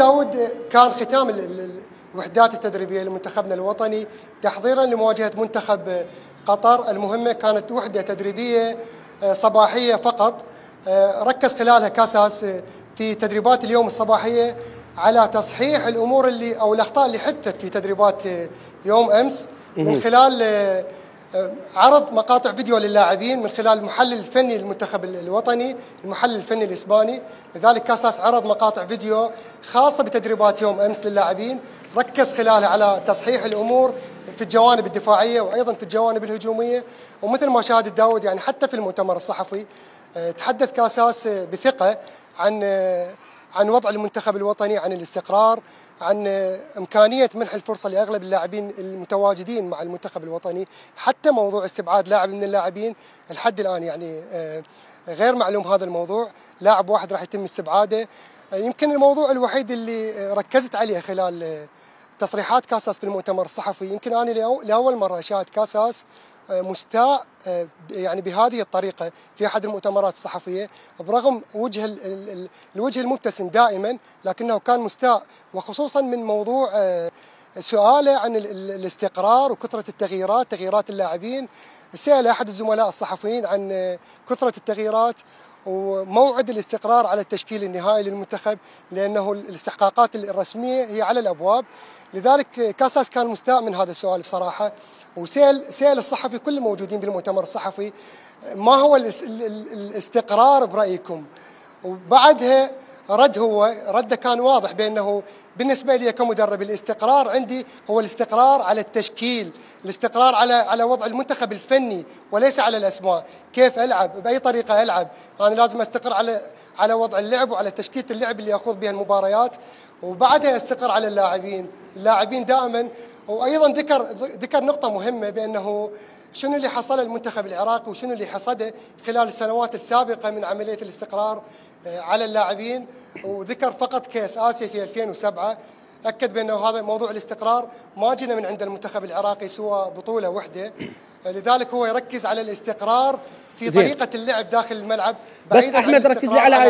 داود، كان ختام الوحدات التدريبية لمنتخبنا الوطني تحضيرا لمواجهة منتخب قطر المهمة. كانت وحدة تدريبية صباحية فقط، ركز خلالها كاساس في تدريبات اليوم الصباحية على تصحيح الأمور أو الأخطاء اللي حدثت في تدريبات يوم أمس، من خلال عرض مقاطع فيديو للاعبين من خلال المحلل الفني للمنتخب الوطني، المحلل الفني الإسباني. لذلك كاساس عرض مقاطع فيديو خاصة بتدريبات يوم أمس للاعبين، ركز خلالها على تصحيح الأمور في الجوانب الدفاعية وأيضا في الجوانب الهجومية. ومثل ما شاهد داود، يعني حتى في المؤتمر الصحفي تحدث كاساس بثقة عن وضع المنتخب الوطني، عن الاستقرار، عن إمكانية منح الفرصة لأغلب اللاعبين المتواجدين مع المنتخب الوطني. حتى موضوع استبعاد لاعب من اللاعبين لحد الآن يعني غير معلوم هذا الموضوع، لاعب واحد راح يتم استبعاده. يمكن الموضوع الوحيد اللي ركزت عليه خلال تصريحات كاساس في المؤتمر الصحفي، يمكن أنا لأول مرة أشاهد كاساس مستاء يعني بهذه الطريقة في أحد المؤتمرات الصحفية، برغم الوجه المبتسم دائما، لكنه كان مستاء، وخصوصا من موضوع سؤاله عن الاستقرار وكثرة التغييرات، تغييرات اللاعبين. سأل أحد الزملاء الصحفيين عن كثرة التغييرات وموعد الاستقرار على التشكيل النهائي للمنتخب، لأنه الاستحقاقات الرسمية هي على الأبواب. لذلك كاساس كان مستاء من هذا السؤال بصراحة، سأل الصحفي كل الموجودين بالمؤتمر الصحفي ما هو الاستقرار برأيكم، وبعدها رده كان واضح بأنه بالنسبة لي كمدرب الاستقرار عندي هو الاستقرار على التشكيل، الاستقرار على وضع المنتخب الفني وليس على الأسماء، كيف ألعب بأي طريقة ألعب، أنا لازم أستقر على وضع اللعب وعلى تشكيلة اللعب اللي أخوض بها المباريات، وبعدها أستقر على اللاعبين دائما. وأيضا ذكر نقطة مهمة بأنه شنو اللي حصله المنتخب العراقي وشنو اللي حصده خلال السنوات السابقة من عملية الاستقرار على اللاعبين، وذكر فقط كأس آسيا في 2007. أكد بأنه هذا موضوع الاستقرار ما جينا من عند المنتخب العراقي سوى بطولة واحدة، لذلك هو يركز على الاستقرار في طريقة اللعب داخل الملعب. بس أحمد ركز لي على